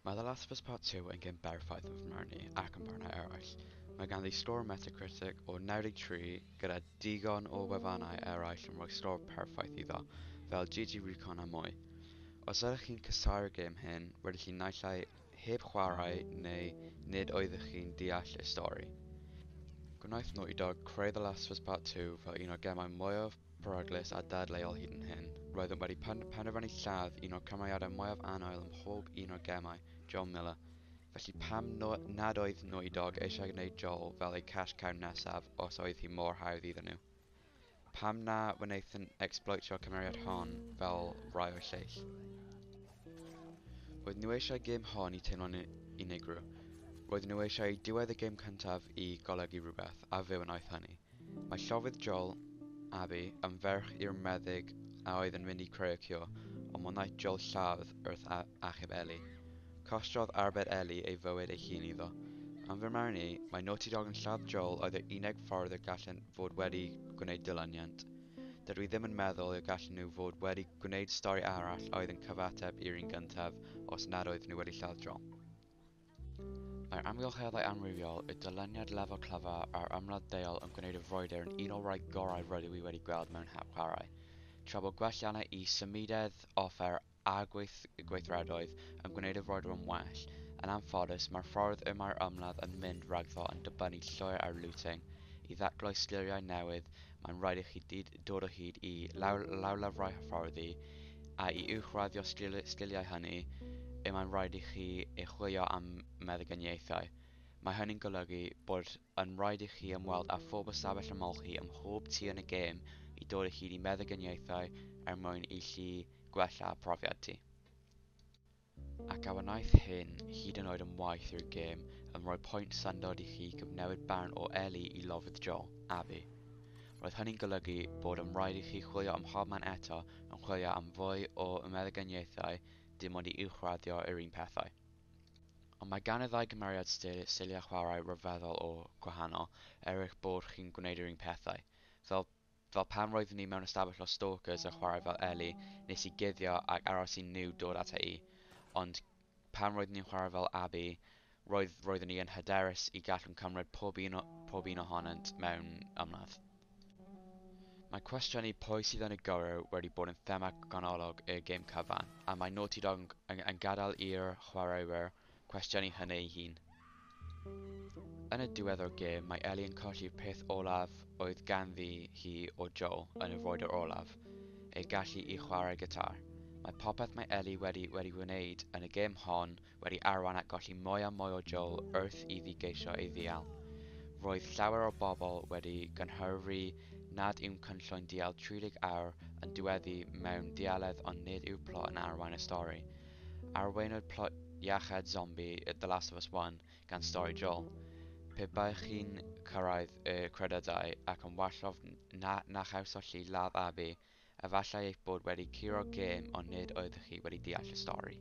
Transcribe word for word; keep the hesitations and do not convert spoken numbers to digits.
Mae The Last of Us Part two yn gêm berffaith yn fy marn i ac yn barnau eraill. Mae ganddi sgôr Metacritic o naw deg tri gyda digon o wefannau eraill yn rhoi sgôr perffaith iddo, fel G G Recon a mwy. Os ydych chi'n casáu'r gêm hyn, rydych chi naill ai heb chwarae neu nid oeddech chi'n deall y stori. Gwnaeth Naughty Dog creu The Last of Us Part two fel un o'r gemau mwyaf peryglus a dadleuol hyd yn hyn. Roeddent wedi penderfynu lladd un o'r cymeriadau mwyaf annwyl ym mhob un o'r gemau, Joel Miller. Felly pam no, nad oedd Naughty Dog eisiau gwneud Joel fel eu cash cow nesaf os oedd hi mor hawdd iddyn nhw? Pam na wnaethon exploitio'r cymeriad hon fel rai o'r lleill? Roedd nhw eisiau gêm hon i teimlo'n unigryw. Roedd nhw eisiau diwedd y gêm cyntaf i golygu rhywbeth, a fe wnaeth hynny. Mae llofrudd Joel, Abby, yn ferch i'r meddyg a oedd yn mynd i creu y cure, ond wnaeth Joel lladd wrth achub Ellie. Costiodd arbed Ellie ei fywyd ei hun iddo. Yn fy marn i, mae Naughty Dog yn lladd Joel oedd yr unig ffordd y gallent fod wedi gwneud dilyniant. Dydw i ddim yn meddwl y gallen nhw fod wedi gwneud stori arall oedd yn cyfateb i'r un gyntaf os nad oedd nhw wedi lladd Joel. Mae'r amgylcheddau amrywiol, y dyluniad lefel clyfar a'r ymladd deuol yn gwneud y frwydr yn un o'r rhai gorau rydw i wedi gweld mewn hap chwarae. Tra bod gwelliannau i symudedd, offer a gweith gweithredoedd yn gwneud y frwydr yn well, yn anffodus mae'r ffordd y mae'r ymladd yn mynd rhagddo yn dibynnu llwyr ar looting. I ddatgloi sgiliau newydd, mae'n rhaid i chi dod o hyd i law lawlyfrau hyfforddi, a i uwchraddio sgiliau hynny, y mae'n rhaid i chi ei chwilio am meddyginiaethau. Mae hynny'n golygu bod yn rhaid i chi ymweld â phob ystafell ymolchi ym mhob tŷ yn y gêm i dod o hyd i meddyginiaethau er mwyn i chi gwella profiad ti. Ac a wnaeth hyn hyd yn oed yn waeth i'r gêm yn rhoi pwynt syndod i chi gyfnewid barn o Ellie i lofrudd Joel, Abby. Roedd hynny'n golygu bod yn rhaid i chi chwilio ym mhobman eto yn chwilio am fwy o meddyginiaethau dim ond i uwchraddio yr un pethau. Ond mae gan y ddau gymeriad stiliau chwarae rhyfeddol o gwahanol, er eich bod chi'n gwneud yr un pethau. Fel, fel pan roeddwn i mewn ystafell o stalkers yn chwarae fel Ellie, nes i guddio ac aros i nhw dod ata i. Ond pan roeddwn i'n chwarae fel Abby, roedd, roeddwn i yn hyderus i gallwn cymryd pob un, o, pob un ohonynt mewn ymladd. Mae cwestiynu pwy sydd yn y gyrru wedi bod yn thema ganolog y gêm cyfan, a mae Naughty Dog yn, yn gadael i'r chwaraewyr cwestiynu hynny ei hun. Yn y diwedd o'r gêm, mae Ellie yn colli'r peth olaf oedd ganddi hi o Joel yn y frwydr olaf, ei gallu i chwarae gitar. Mae popeth mae Ellie wedi wedi wneud yn y gêm hon wedi arwain at golli mwy a mwy o Joel wrth iddi geisio ei ddial. Roedd llawer o bobl wedi gynhyrfu nad yw'n cynllwyn dial tri deg awr yn diweddu mewn dialedd ond nid yw'r plot yn arwain y stori. Arweinwyd plot iachâd zombie The Last of Us one gan stori Joel. Pe baech chi'n cyrraedd y credydau ac yn wallgof na, na chawsoch chi ladd Abby, efallai eich bod wedi curo'r gêm ond nid oeddech chi wedi deall y stori.